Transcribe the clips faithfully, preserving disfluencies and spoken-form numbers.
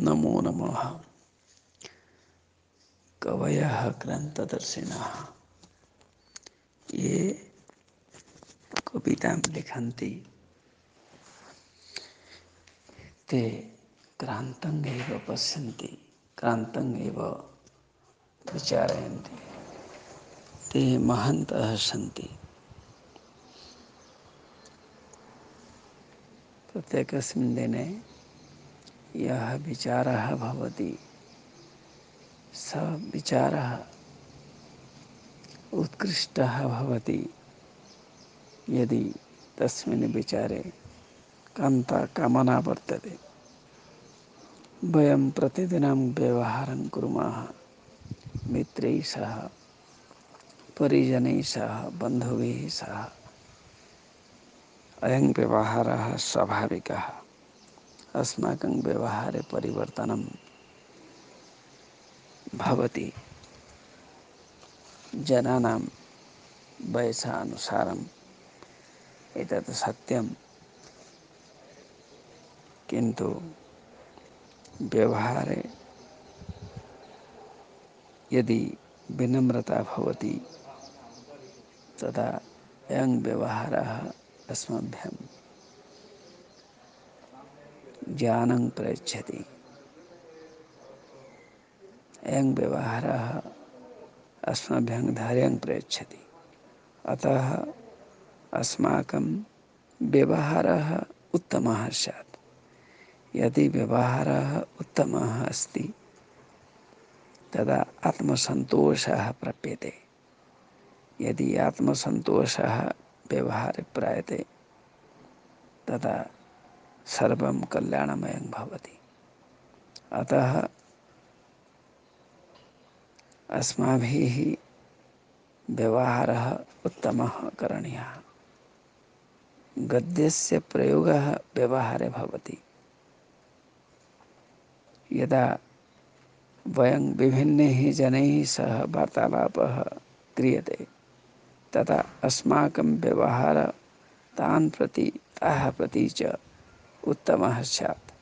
नमो नमः। कवयः क्रान्तदर्शिनः ये कवितां लिखन्ति ते क्रान्तं एव पश्यन्ति, क्रान्तं एव विचारयन्ति। ते महन्तः सन्ति। प्रत्येकस्मिन् दिने यः विचारः भवति सः विचारः उत्कृष्टः भवति यदि तस्मिन् विचारे कान्ता कामना वर्तते। वयं प्रतिदिनं व्यवहारं कुर्मः मित्रैः सह, परिजनैः सह, बन्धुभिः सह। अयं व्यवहारः स्वाभाविकः। अस्माकं व्यवहारे परिवर्तनं भवति। जनानां वयसानुसारम् एतत् सत्यं, किन्तु व्यवहारे यदि विनम्रता भवति तदा अयं व्यवहारः अस्मभ्यं ज्ञानं प्रयच्छति। अयं व्यवहारः अस्मभ्यं धैर्यं प्रयच्छति। अतः अस्माकं व्यवहारः उत्तमः स्यात्। यदि व्यवहारः उत्तमः अस्ति तदा आत्मसन्तोषः प्राप्यते। यदि आत्मसन्तोषः व्यवहारे प्राप्यते तदा सर्वं कल्याणमयं भवति। अतः अस्माभिः व्यवहारः उत्तमः करणीयः। गद्यस्य प्रयोगः व्यवहारे भवति। यदा वयं विभिन्नैः जनैः सह वार्तालापः क्रियते तदा अस्माकं व्यवहारः तान् प्रति ताः प्रति च उत्तमः स्यात्।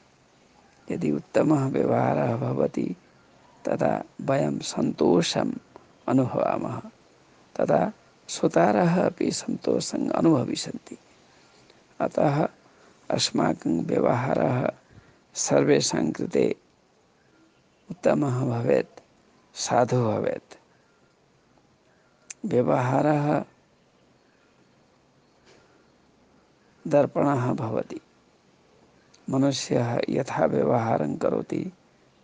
यदि उत्तमः व्यवहारः भवति तदा वयं सन्तोषम् अनुभवामः, तदा श्रोतारः अपि सन्तोषम् अनुभविष्यन्ति। अतः अस्माकं व्यवहारः सर्वेषां कृते उत्तमः भवेत्, साधु भवेत्। व्यवहारः दर्पणः भवति। मनुष्यः यथा व्यवहारं करोति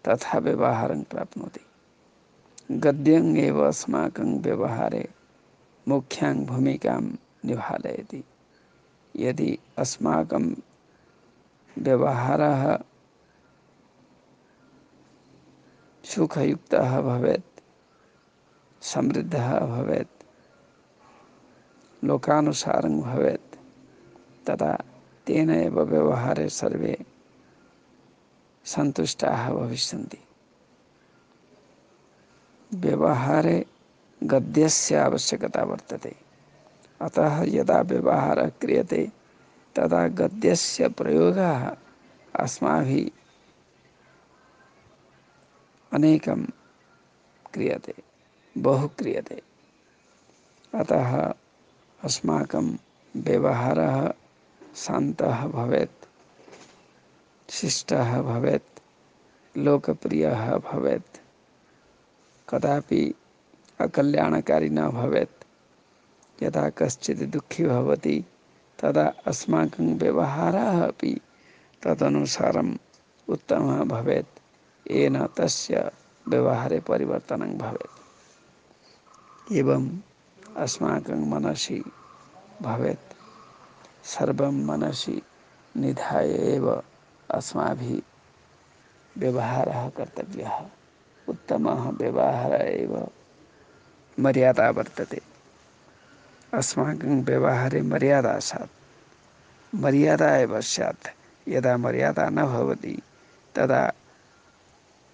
तथा व्यवहारं प्राप्नोति। गद्यम् एव अस्माकं व्यवहारे मुख्यां भूमिकां निभालयति। यदि अस्माकं व्यवहारः सुखयुक्तः भवेत्, समृद्धः भवेत्, लोकानुसारं भवेत्, तदा तेन एव व्यवहारे सर्वे सन्तुष्टाः भविष्यन्ति। व्यवहारे गद्यस्य आवश्यकता वर्तते। अतः यदा व्यवहारः क्रियते तदा गद्यस्य प्रयोगः अस्माभिः अनेकं क्रियते, बहु क्रियते। अतः अस्माकं व्यवहारः शान्तः भवेत्, शिष्टः भवेत्, लोकप्रियः भवेत्, कदापि अकल्याणकारी न भवेत्। यदा कश्चित् दुःखी भवति तदा अस्माकं व्यवहारः अपि तदनुसारम् उत्तमः भवेत्, येन तस्य व्यवहारे परिवर्तनं भवेत्। एवम् अस्माकं मनसि भवेत्। सर्वं मनसि निधाय एव अस्माभिः व्यवहारः कर्तव्यः। उत्तमः व्यवहारः एव मर्यादा वर्तते। अस्माकं व्यवहारे मर्यादा स्यात्। मर्यादा एव स्यात्। यदा मर्यादा न भवति तदा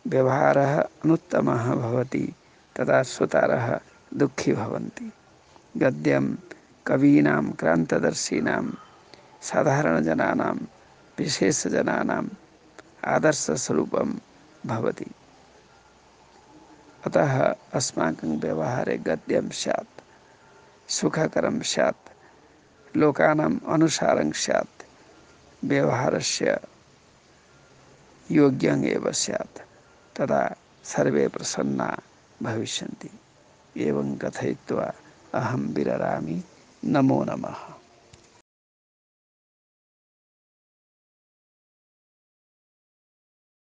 व्यवहारः अनुत्तमः भवति, तदा श्रोतारः दुःखी भवन्ति। गद्यं कवीनां, क्रान्तदर्शिनां, साधारणजनानां, विशेषजनानां आदर्शस्वरूपं भवति। अतः अस्माकं व्यवहारे गद्यं स्यात्, सुखकरं स्यात्, लोकानाम् अनुसारं स्यात्, व्यवहारस्य योग्यम् एव स्यात्, तदा सर्वे प्रसन्ना भविष्यन्ति। एवं कथयित्वा अहं विररामि। नमो नमः।